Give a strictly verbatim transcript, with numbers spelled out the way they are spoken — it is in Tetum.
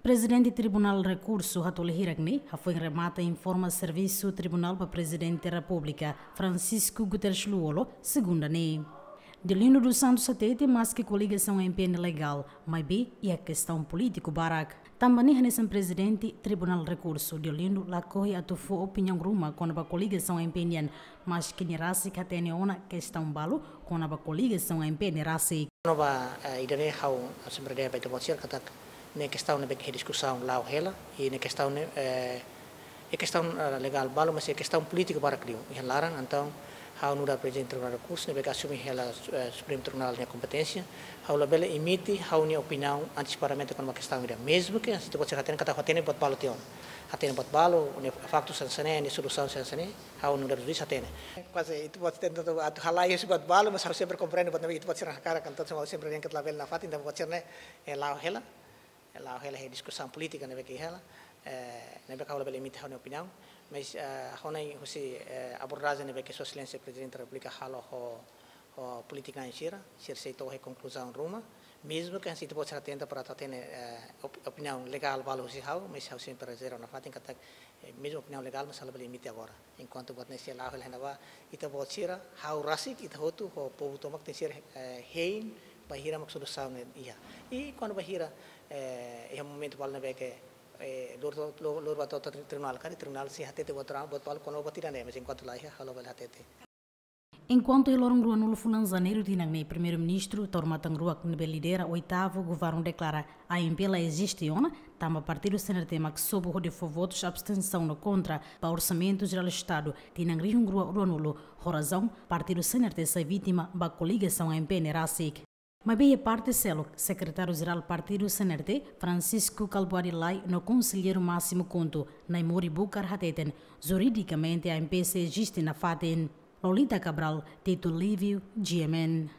Prezidente Tribunál Rekursu Hatoli hirak ne'e hafoin remata informa servisu Tribunál ba Prezidente Repúblika, Francisco Guterres Lú-Olo, segunda ne'e. Deolindo dos Santos hatete maski koligasaun M P N legál, maibé iha kestaun polítiku barak. Tanba ne'e hanesan Prezidente Tribunál Rekursu, Deolindo lakohi atu fó opiniaun ruma kona-ba koligasaun M P N nian, maski nia rasik hatene ona kestaun balu kona-ba koligasaun M P N rasik. Kona-ba, eh, ida-ne'e ha'u sempre dehan ba ita-boot sira katak ne'e kestaun ne'ebé ke diskusaun la'o hela, i ne'e kestaun ne'e, eh, iha kestaun, eh, legál balu, mas iha kestaun polítiku barak liu iha laran. Entaun ha'u nu'udar Prezidente Tribunál Rekursu ne'ebé ke asume hela, eh, Supremu Tribunál nia kompeténsia, ha'u labele emite ha'u-nia opiniaun antesipadamente kona-ba kestaun ida. Mezmu ke ita-boot sira hatene katak hatene buat balu tiha ona. Hatene buat balu, ne'e faktu hanesan ne'e, ne'e solusaun hanesan ne'e, ha'u nu'udar juís hatene. Kuaze ita-boot tenta atu, atu halai husi buat balu, mas ha'u sempre komprende buat ne'ebé ita-boot sira hakarak, entaun ha'u sempre dehan katak labele nafatin, entaun buat sira-ne'e, eh, la'o hela. La'o hela iha diskusaun polítika ne'ebé ke hela, eh, ne'ebé ke ha'u labele emite ha'u-nia opiniaun, mas, eh, ha'u hanoin husi, eh, abordajen ne'ebé ke Sua Exelénsia Prezidente Repúblika halo ho, ho polítiku na'in sira, sira sei to'o iha konkluzaun ruma, mezmu ke ita-boot sira tenta para atu hatene, eh, op-, opiniaun legál balu husi ha'u, mas ha'u sempre rezerva nafatin katak, eh, mezmu opiniaun legál, mas ha'u labele emite agora. Enkuantu buat ne'e sei la'o hela iha ne'ebá, ita-boot sira, ha'u rasik, ita hotu, ho povu tomak tenke ser, eh, hein, bainhira mak solusaun ne'e iha. I kuandu bainhira, eh, iha momentu balu ne'ebé ke, eh, lori, lori, lori ba to'o, to'o tribunál, karik tribunál sei hatete buat ra-, buat balu kona-ba buat ida-ne'e, mas enkuantu la iha, ha'u labele hatete. Enkuantu iha loron ruanulu fulan Janeiru tinan ne'e, Primeiru-Ministru Taur Matan Ruak ne'ebé lidera oitavu governu deklara A M P la eziste ona, tanba partidu C N R T mak sobu hodi fó votus abstensaun no kontra ba Orsamentu Jerál Estadu tinan rihun rua ruanulu, ho razaun partidu C N R T sai vítima ba koligasaun M P N rasik. Maibé iha parte seluk, Sekretáriu Jerál Partidu C N R T, Francisco Kalbuadi Lay, no Konselleiru Másimu KHUNTO, Naimori Bucar hateten, juridikamente A M P sei eziste nafatin. Lolita Cabral, Tito Lívio, G M N.